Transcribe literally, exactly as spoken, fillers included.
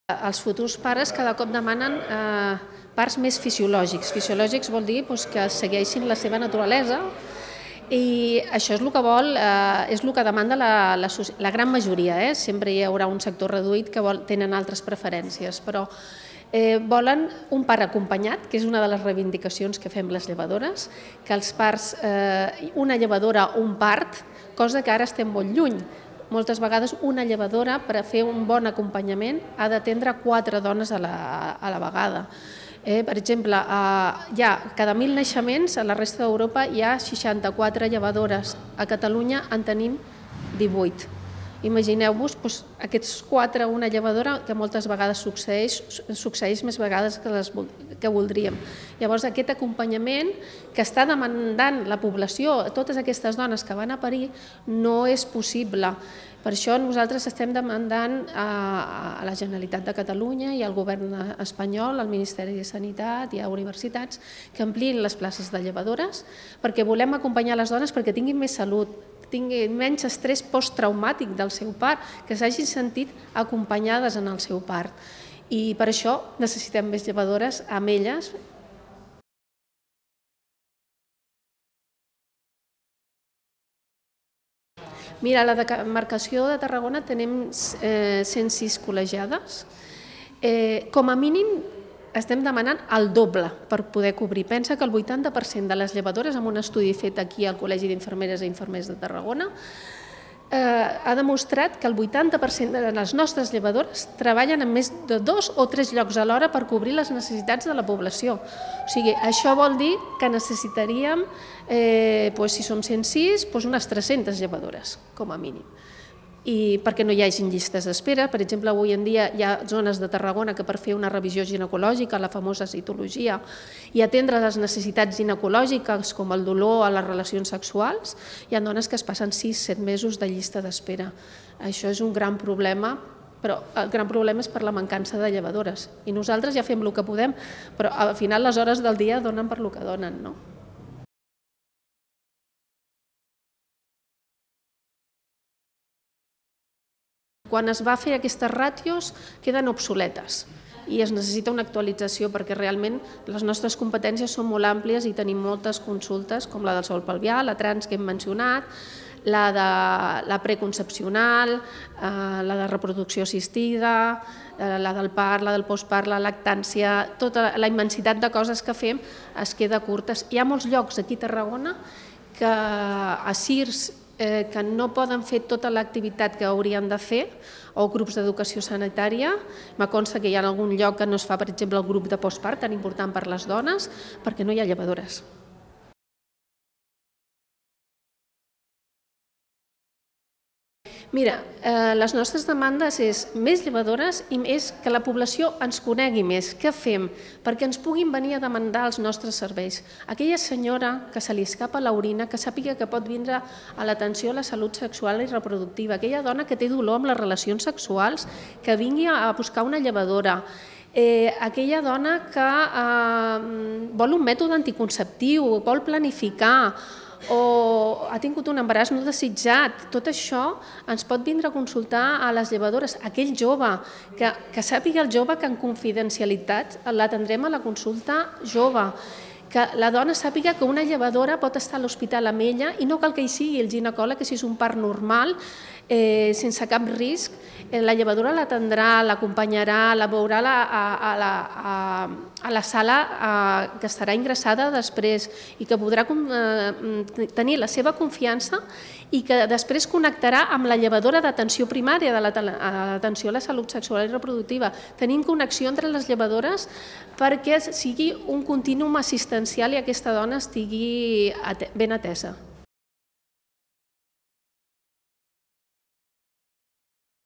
Els futurs pares cada cop demanen eh, parts més fisiològics. Fisiològics vol dir doncs, que segueixin la seva naturalesa i això és el que vol, eh, és el que demanda la, la, la gran majoria. Eh? Sempre hi haurà un sector reduït que vol, tenen altres preferències, però eh, volen un pare acompanyat, que és una de les reivindicacions que fem les llevadores, que els pares, eh, una llevadora o un part, cosa que ara estem molt lluny. Moltes vegades una llevadora, per a fer un bon acompanyament, ha d'atendre quatre dones a la, a la vegada. Eh, per exemple, eh, hi ha cada mil naixements, a la resta d'Europa hi ha seixanta-quatre llevadores. A Catalunya en tenim divuit. Imagineu-vos doncs, aquests quatre, una llevadora, que moltes vegades succeeix, succeeix més vegades que, les, que voldríem. Llavors, aquest acompanyament que està demandant la població, totes aquestes dones que van a parir, no és possible. Per això nosaltres estem demandant a la Generalitat de Catalunya i al govern espanyol, al Ministeri de Sanitat i a universitats, que ampliïn les places de llevadores, perquè volem acompanyar les dones perquè tinguin més salut, tinguin menys estrès posttraumàtic del seu part, que s'hagin sentit acompanyades en el seu part. I per això necessitem més llevadores amb elles. Mira, a la demarcació de Tarragona tenim cent sis col·legiades. Com a mínim estem demanant el doble per poder cobrir. Pensa que el vuitanta per cent de les llevadores, amb un estudi fet aquí al Col·legi d'Infermeres i Infermers de Tarragona, ha demostrat que el vuitanta per cent de les nostres llevadores treballen en més de dos o tres llocs alhora per cobrir les necessitats de la població. O sigui, això vol dir que necessitaríem, si som cent sis, unes tres-centes llevadores, com a mínim. I perquè no hi hagin llistes d'espera. Per exemple, avui en dia hi ha zones de Tarragona que per fer una revisió ginecològica, la famosa citologia, i atendre les necessitats ginecològiques com el dolor a les relacions sexuals, hi ha dones que es passen sis set mesos de llista d'espera. Això és un gran problema, però el gran problema és per la mancança de llevadores. I nosaltres ja fem el que podem, però al final les hores del dia donen per el que donen, no? Quan es va fer aquestes ràtios queden obsoletes i es necessita una actualització perquè realment les nostres competències són molt àmplies i tenim moltes consultes com la del sòl pelvià, la trans que hem mencionat, la de la preconcepcional, la de reproducció assistida, la del part, la del postpart, la lactància, tota la immensitat de coses que fem es queda curtes. Hi ha molts llocs aquí a Tarragona que a C I R S que no poden fer tota l'activitat que haurien de fer, o grups d'educació sanitària. Me consta que hi ha algun lloc que no es fa, per exemple, el grup de postpart, tan important per les dones, perquè no hi ha llevadores. Mira, les nostres demandes és més llevadores i més que la població ens conegui més. Què fem? Perquè ens puguin venir a demandar els nostres serveis. Aquella senyora que se li escapa l'orina, que sàpiga que pot vindre a l'atenció a la salut sexual i reproductiva. Aquella dona que té dolor amb les relacions sexuals, que vingui a buscar una llevadora. Aquella dona que vol un mètode anticonceptiu, vol planificar, o ha tingut un embaràs no desitjat. Tot això ens pot vindre a consultar a les llevadores. Aquell jove, que sàpiga el jove que en confidencialitat l'atendrem a la consulta jove. Que la dona sàpiga que una llevadora pot estar a l'hospital amb ella i no cal que hi sigui el ginecòleg, que si és un part normal, sense cap risc, la llevadora l'atendrà, l'acompanyarà, la veurà a la sala que estarà ingressada després i que podrà tenir la seva confiança i que després connectarà amb la llevadora d'atenció primària, de l'atenció a la salut sexual i reproductiva. Tenim connexió entre les llevadores perquè sigui un contínuum assistencial i aquesta dona estigui ben atesa.